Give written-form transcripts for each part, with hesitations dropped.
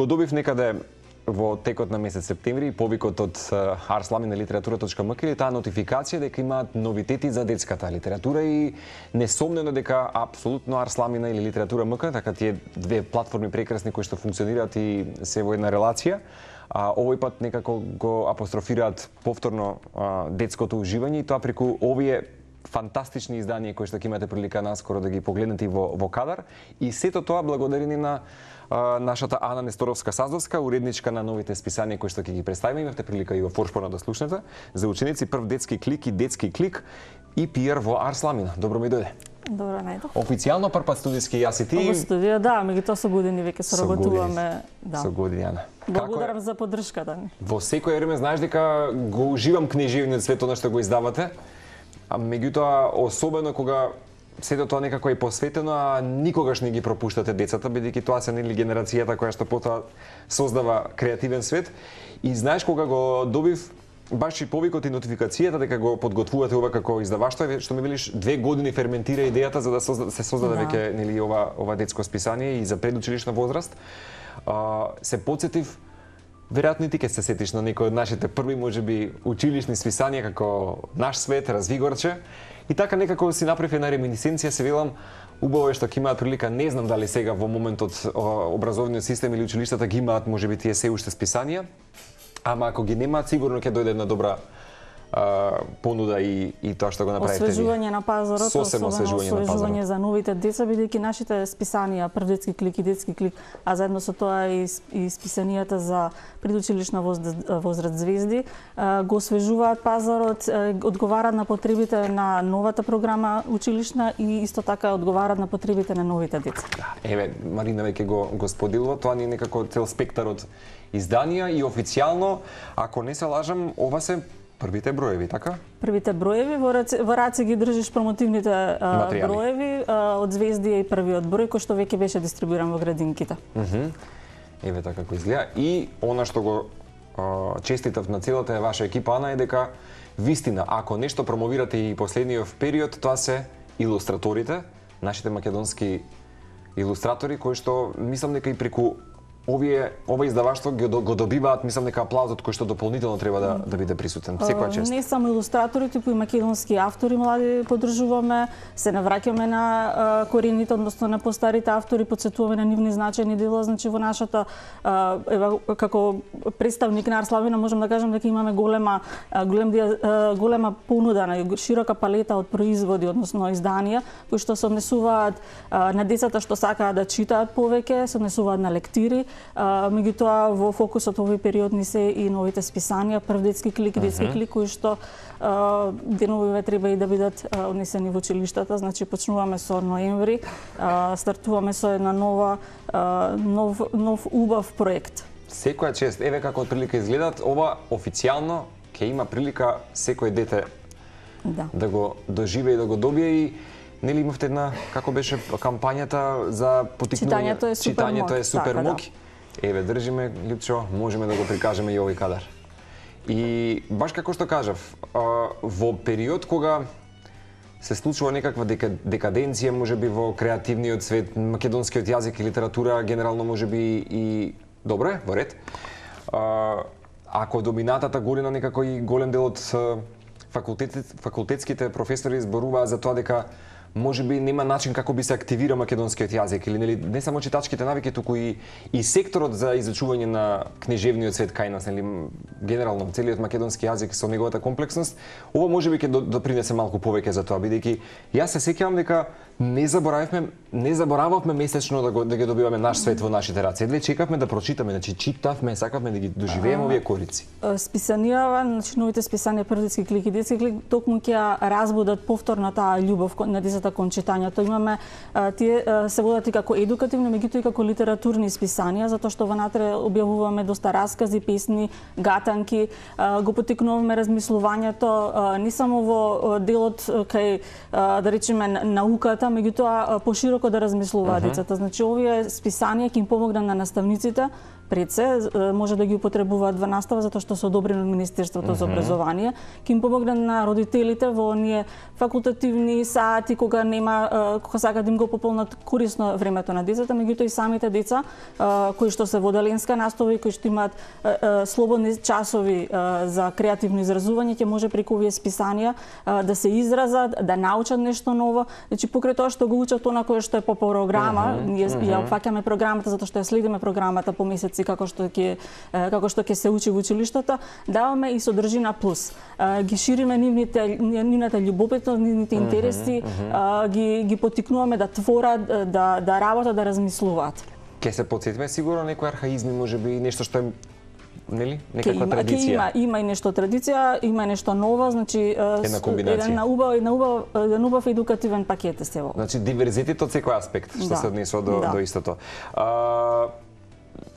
Го добив некаде во текот на месец септември повикот од arslamina.literatura.mk или таа нотификација дека имаат новитети за детската литература и несомнено дека апсолутно Арсламина или Литература.мк, така тие две платформи прекрасни кои што функционираат и се во една релација, овој пат некако го апострофираат повторно детското уживање и тоа преку овие фантастични изданија кои што ќе имате прилика наскоро да ги погледнете во кадар, и сето тоа благодарение на нашата Ана Несторовска-Саздовска, уредничка на новите списанија кои што ќе ги представиме. Имавте прилика и во Форшпона да слушнете за ученици, прв детски клик и детски клик и PR во Арсламина. Добро ми дојде. Добро најдов. Официјално прв пат студиски јас и ти. Во студија, да, меѓутоа со години веќе соработуваме, да. Со години, Ана. Благодарам за поддршката ни. Во секој време знаеш дека го уживам книжевниот свет она што го издавате. А меѓутоа особено кога сето тоа некако е посветено, а никогаш не ги пропуштате децата, бидејќи тоа се нели генерацијата која што потоа создава креативен свет. И знаеш кога го добив баш и повикот и нотификацијата дека го подготвувате ова како издаваштво, што ми велиш 2 години ферментира идејата за да се создаде веќе нели ова детско списание и за предучилишна возраст. Се потсетив, веројатно и ти ќе се сетиш на некој од нашите први можеби училишни списанија како Наш свет, Развигорче. И така некако си направив една реминисценција, се велам, убаво е што ќе имаат прилика, не знам дали сега во моментот образовниот систем или училиштата ги имаат можеби тие се уште списанија, ама ако ги немаат сигурно ќе дојде една добра понуда и тоа што го направите. Освежување на пазарот, особено освежување за новите деца, бидејќи нашите списанија, прв детски клик и детски клик, а заедно со тоа и списанијата за предучилишна возраст Звезди, го освежуваат пазарот, одговараат на потребите на новата програма училишна и исто така одговараат на потребите на новите деца. Еве, Марина веќе го споделува, тоа ни е некако цел спектар од изданија и официјално, ако не се лажам, ова се првите броеви, така? Првите броеви, во раце ги држиш промотивните броеви од Звездија и првиот број кој што веќе беше дистрибуиран во градинките. Еве така како изгледа. И она што го честитав на целата ваша екипа, Ана, е дека вистина, ако нешто промовирате и последниот период, тоа се илустраторите, нашите македонски илустратори кои што мислам дека и преку ова издаваштво го добиваат, мислам дека аплаузот кој што дополнително треба да биде присутен секоја чест. Не само илустратори, туку и македонски автори млади поддржуваме, се навраќаме на корените, односно на постарите автори, потсетуваме на нивни значајни дела, значи во нашата како представник на Арсламина можам да кажам дека имаме голема понуда на широка палета од производи, односно изданија кои што се однесуваат на децата што сакаат да читаат повеќе, се однесуваат на лектири. Меѓутоа во фокусот овој период ни се и новите списанија, прв детски клик, детски клик, кои што деновиве треба и да бидат однесени во училиштата, значи почнуваме со ноември, стартуваме со една нов убав проект. Секоја чест, еве како отприлика изгледат, ова официјално ќе има прилика секој дете да го доживее и да го добие и нели имавте една, како беше кампањата за поттикнување? Читањето е супер мок. Еве, држиме, Липчо, можеме да го прикажеме и овој кадар. И баш како што кажав, во период кога се случува некаква декаденција, можеби во креативниот свет, македонскиот јазик и литература, генерално можеби и добро во ред. Ако доминатата година некако и голем дел од факултетските професори зборуваа за тоа дека можеби нема начин како би се активира македонскиот јазик или нели не само читачките навики, туку и секторот за изучување на книжевниот свет кај нас, нели генерално целиот македонски јазик со неговата комплексност, ова можеби ќе допринесе малку повеќе за тоа, бидејќи јас се сеќавам дека не заборававме месечно да ги добиваме Наш свет во нашите раце. Едве чекавме да прочитаме, значи читавме, сакавме да ги доживееме овие корици. Списанија, значи новите списанија прв детски клик и детски клик токму ќе разбудат повторно таа љубов на децата кон читањето. Имаме тие се водат и како едукативни, меѓутоа и како литературни списанија, затоа што внатре објавуваме доста раскази, песни, гатанки, го поттикнуваме размислувањето не само во делот кај да речеме науката, меѓутоа пошироко да размислуваат децата. Значи овие списанија ќе им помогнат на наставниците пред се, може да ги употребуваат во настава затоа што се одобрени од Министерството за образование, ќе им помогне на родителите во оние факултативни сати кога кога сакаат да им го пополнат корисно времето на децата, меѓутоа и самите деца кои што се во деленска настава и кои што имаат слободни часови за креативно изразување, ќе може преку овие списанија да се изразат, да научат нешто ново. Значи покрај тоа што го учат она кое што е по програма, ние ја опфаќаме програмата затоа што ја следиме програмата по месеци како што ќе се учи во училиштата, даваме и содржина плюс. Ги шириме нивната љубопитност, нивните интереси, ги поттикнуваме да творат, да работат, да размислуваат. Ке се потсетиме сигурно некои архаизми, можеби нешто што е нели некаква традиција. Има и нешто традиција, има и нешто ново, значи една комбинација. Еден убав едукативен пакет се во. Значи диверзитет од секој аспект што се однесува до истото.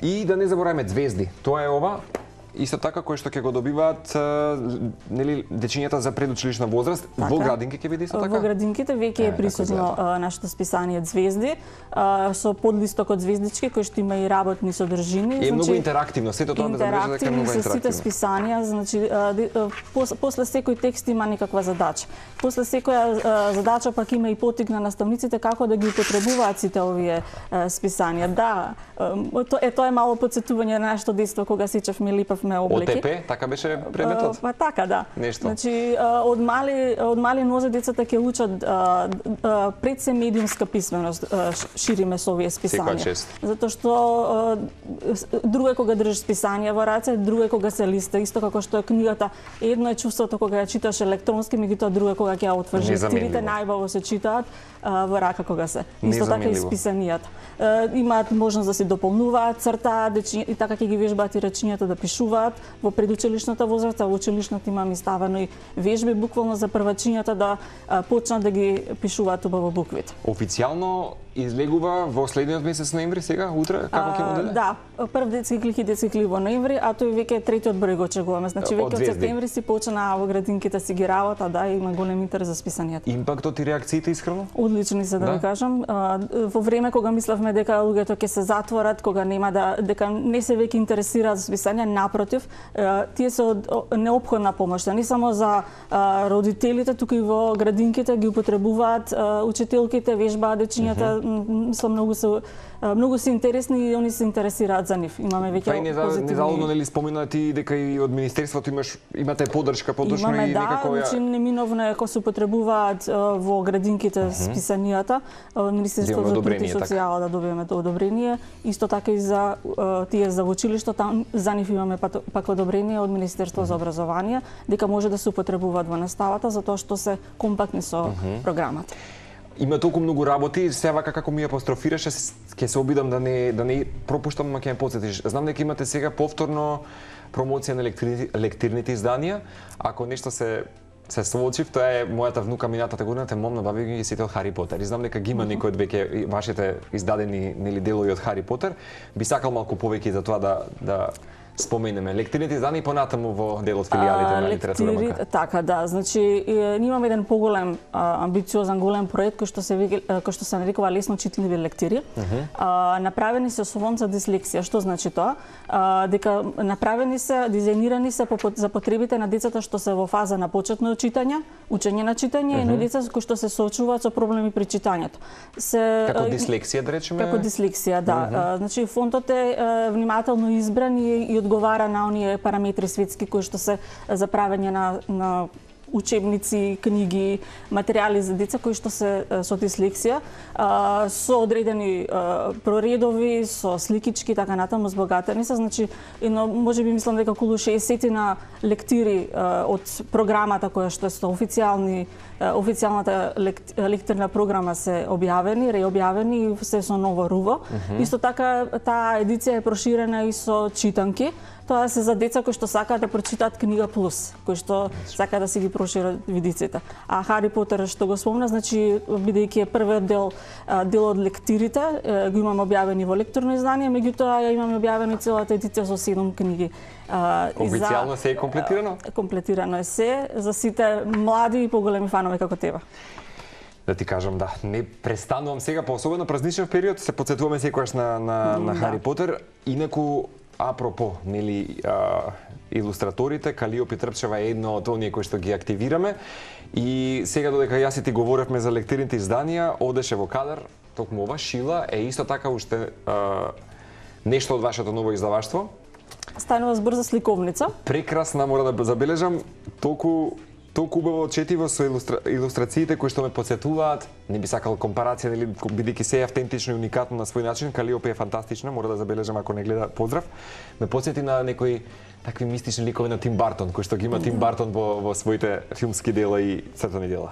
И да не забораваме звезди. Тоа е ова исто така кој што ќе го добиваат нели дечињата за предучилишна возраст во градинки ќе биде исто така. Во градинките веќе е присутно нашето списание Звезди со подлисток од звездички кој што има и работни содржини. Е многу интерактивно, сето тоа забележа дека е многу интерактивно. Сите списанија, значи после секој текст има некаква задача. После секоја задача пак има и поттик на наставниците како да ги употребуваат сите овие списанија. Да, тоа е мало потсетување на нашето детство кога сечевме липавме облеки. ОТП, така беше предметот? Па така, да. Нешто. Значи, од мали нозе децата ќе учат пред се медиумска писменост, шириме со овие списанија. Затоа што друго е кога држиш списанија во раце, друго е кога се листа, исто како што е книгата. Едно е чувството кога ја читаш електронски, меѓутоа друго е кога ќе ја отвориш. Лектирите најбаво се читаат во рака кога се. Исто така и списанијата. Имаат можност да се дополнуваат, цртаат, и така ќе ги вежбаат и речињата да пишуваат во предучилишната возраст, а во училишната имаме ставено и вежби буквално за првачињата да почнат да ги пишуваат убаво буквите. Официјално излегува во следниот месец ноември сега, утре, како ќе му даде? Да, прв детски клик во ноември, а тој веќе третиот број го очекуваме. Значи веќе од септември си почна во градинките си ги работа, да, има голем интерес за списанијата. Импактот и реакциите искрено? Одлични се, да ви кажам. Во време кога мислевме дека луѓето ќе се затворат, кога дека не се веќе интересираат за списање, напротив, тие се неопходна помош, не само за родителите, туку и во градинките ги употребуваат учителките, вежбаат дечињата, мислам многу се интересни и они се интересираат за нив. Имаме веќе позитивни. Незалудно нели спомена ти дека и од министерството имате поддршка подушно и некако ја. Значи неминовно е кога се употребуваат во градинките списанијата, Министерството за труд и социјала да добиеме одобрение, исто така и за тие за училишто, за нив имаме пак одобрение од Министерството за образование дека може да се употребуваат во наставата затоа што се компактни со програмата. Има толку многу работи, сега како ми апострофираше, ќе се обидам да не пропуштам, ама ќе ме потсетиш. Знам дека имате сега повторно промоција на лектирните изданија. Ако нешто се соочив, тоа е мојата внука минатата година, те момна баби ги сите од Хари Потер. И знам дека ги има некој од веќе вашите издадени нели делови од Хари Потер. Би сакал малку повеќе за тоа да споменеме лектирните изданија и понатаму во дел од филијалите на литература МК. Така, да. Значи, ние имаме еден поголем, амбициозен голем проект кој што се нарекува лесно читливи лектири. Направени се со фонд за дислексија. Што значи тоа? Дека направени се, дизајнирани се за потребите на децата што се во фаза на почетно учење на читање, и деца кои што се соочуваат со проблеми при читањето. Како дислексија, да речеме? Како дислексија, да. Значи, фондот е внимателно избран и одговара на оние параметри светски кои што се за правење на учебници, книги, материјали за деца кои што се со дислексија, со одредени проредови, со сликички, така натаму збогатени се. Значи, можеби мислам дека околу 60 на лектири од програмата која што е официјалната лектирна програма се објавени, реобјавени и се со ново руво. Исто така, таа едиција е проширена и со читанки. Тоа се за деца кои што сакаат да прочитаат книга плюс, кои што сакаат да си ги прошират видиците. А Хари Потер што го спомна, значи бидејќи е првиот дел од лектирите, го имаме објавени во лекторно издание, меѓутоа ја имаме објавени целата едиција со 7 книги. Официјално се е комплетирано? Комплетирано е се за сите млади и поголеми фанови како тебе. Да ти кажам, да, не престанувам сега, по особено празничен период, се потсетуваме секогаш на Хари Потер. Инаку, апропо, нели, илустраторите, Калиопи Трпчева е едно од оние кои што ги активираме. И сега додека јас и ти говоревме за лектирните изданија, одеше во кадар, токму ова Шила е исто така уште нешто од вашето ново издаваштво. Станува збор за сликовница. Прекрасна, мора да забележам, толку убаво четиво со илустрациите кои што ме потсетуваат. Не би сакал компарација, нели, бидејќи се е автентично и уникатно на свој начин. Калиопи е фантастична, мора да забележам ако не гледа, поздрав. Ме потсети на некои такви мистични ликови на Тим Бартон, кои што ги има Тим Бартон во своите филмски дела и цртани дела.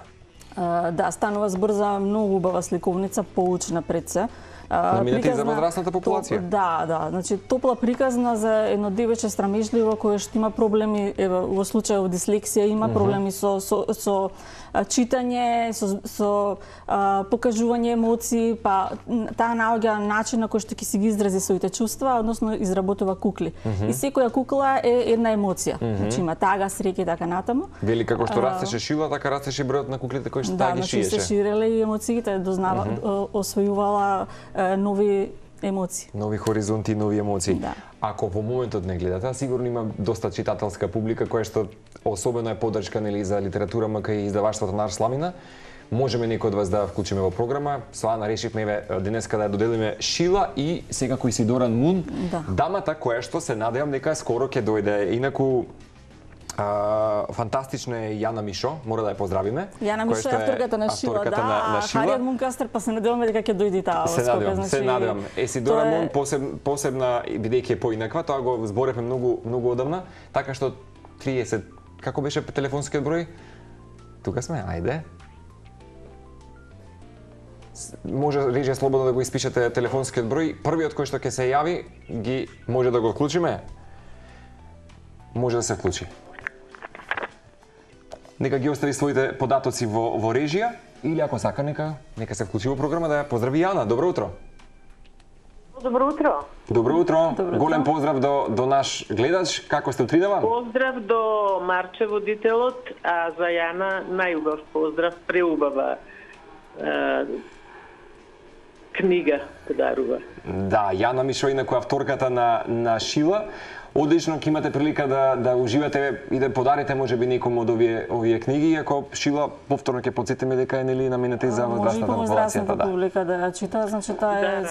Да, станува збор за многу убава сликовница, поучна пред се. Наминете и за возрастната популација. Да, значи топла приказна за едно девече срамежливо кое што има проблеми, во случајот дислексија, има проблеми со читање, со покажување емоции, па таа наоѓа начин на кој што ќе си ги изрази своите чувства, односно изработува кукли. И секоја кукла е една емоција. Значи има тага, среќа и така натаму. Вели како што растеше Шила, така растеше бројот на куклите кои што таа ги шиеше. Да, значи се ширеле и емоциите, дознава, освојувала нови емоции. Нови хоризонти, нови емоции. Да. Ако во моментот не гледате, сигурно има доста читателска публика која што особено е поддршка, нели, за литература кај издаваштвото на Сламина. Можеме некој од вас да вклучиме во програма. Со Ана решивме денеска да ја доделиме Шила и секако Исидора Мун, дамата која што се надевам дека скоро ќе дојде. Инаку фантастична е Јана Мишо, мора да ја поздравиме. Јана Мишо е авторката на Шила, да, Харијат Мункастер, па се надеваме дека ќе дојде таа скока. Се надевам. Исидора Мун посебна, бидејќи е поинаква, тоа го зборевме многу одамна, така што 30, како беше телефонскиот број? Тука сме, ајде. Може режија слободно да го испишете телефонскиот број. Првиот кој што ќе се јави, може да го вклучиме? Може да се вклучи. Нека ги остави своите податоци во режија или ако сака нека се вклучи во програма да ја поздрави Јана. Добро утро. Добро утро. Добро утро. Голем поздрав до наш гледач. Како сте утринава? Поздрав до Марче водителот, а за Јана најубав поздрав, преубава книга подарува. Да, Јана Мишо инаку авторката на Шила. Одлично, ќе имате прилика да уживате и да подарите можеби некому од овие книги, иако Шила повторно ќе потсетиме дека е нели наменета и за возрастната популација. Да, публика да ја чита, значи тоа е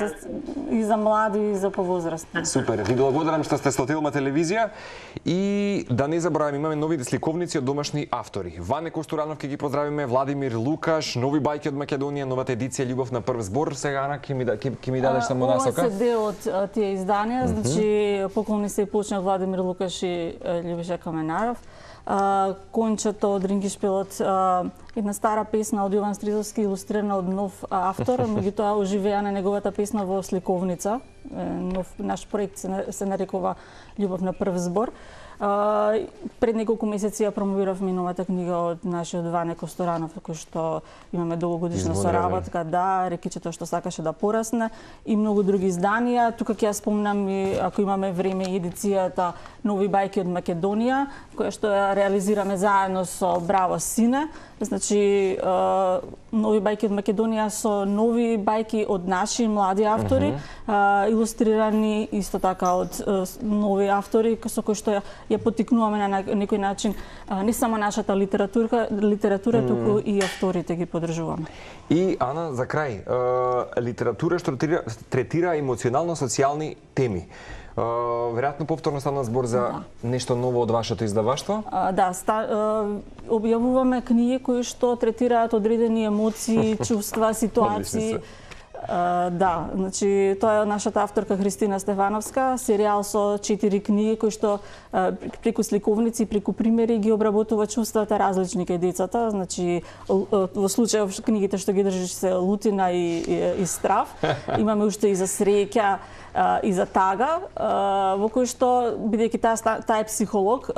и за млади и за повозрастни. Супер. Ви благодарам што сте со Телма телевизија и да не забораваме, имаме нови сликовници од домашни автори. Ване Костуранов ќе ги поздравиме, Владимир Лукаш, нови бајки од Македонија, новата едиција Љубов на прв збор. Сега Ана ќе ми дадеш само насока. Ова се дел од тие изданија, значи поклони се и почна Владимир Лукаш и Љубиша Каменаров. Кончето од Рингишпилот, една стара песна од Јован Стризовски, илустрирана од нов автор, меѓутоа оживеа на неговата песна во сликовница. Наш проект се нарекува Љубов на прв збор. Пред неколку месеци ја промовиравме новата книга од нашиот Ване Косторанов, кој што имаме долгогодишна соработка, да, рекичето што сакаше да порасне и многу други изданија. Тука ќе ја спомнам и ако имаме време и едицијата Нови бајки од Македонија, која што ја реализираме заедно со Браво Сине. Значи, Нови бајки од Македонија со нови бајки од наши млади автори, илустрирани исто така од нови автори со кои што ја поттикнуваме на некој начин не само нашата литература, туку и авторите ги поддржуваме. И Ана, за крај, литература што третира емоционално социјални теми. Веројатно повторно стана збор за нешто ново од вашето издаваштво? Да, објавуваме книги кои што третираат одредени емоции, чувства, ситуации. Да, значи тоа е нашата авторка Христина Стефановска, серијал со 4 книги кои што преку сликовници, преку примери ги обработува чувствата различни кај децата. Значи во случајов книгите што ги држиш се лутина и страв. Имаме уште и за среќа и за тага, во кој што, бидејќи таа е психолог,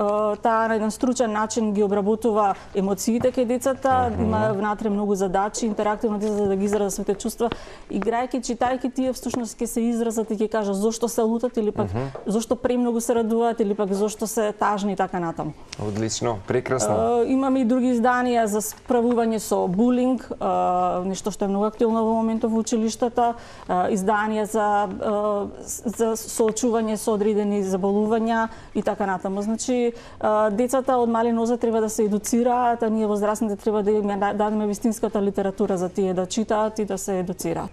таа на еден стручен начин ги обработува емоциите кај децата, има внатре многу задачи, интерактивно децата да ги изразат своите чувства играјќи, читајќи тие всушност ќе се изразат и ќе кажат зошто се лутат или пак зошто премногу се радуваат или пак зошто се тажни и така натаму. Одлично, прекрасно. Имаме и други изданија за справување со булинг, нешто што е многу актуелно во моментов во училиштата, изданија за соочување со одредени заболувања и така натаму. Значи, децата од мали нозе треба да се едуцираат, а ние возрастните треба да им дадеме вистинската литература за тие да читаат и да се едуцираат.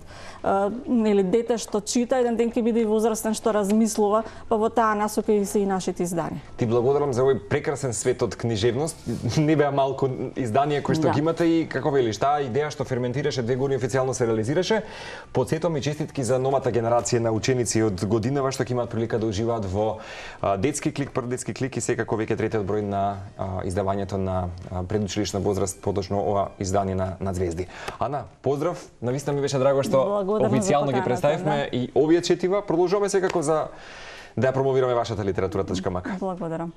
Нели, дете што чита, еден ден ќе биде и возрастен што размислува, па во таа насока и се и нашите изданија. Ти благодарам за овој прекрасен свет од книжевност. Не беа малку изданија кои што ги имате и како велиш, таа идеја што ферментираше 2 години официјално се реализираше. Потсетувам и честитки за новата генерација на ученици од годинава што ќе имаат прилика да уживаат во детски клик, прв детски клик и секако веќе третиот број на издавањето на предучилишна возраст, поточно ова издание на Звезди. Ана, поздрав, навистина ми беше драго што официјално ги представивме и овие четива. Продолжуваме секако за да ја промовираме вашата литература.мк. Благодарам.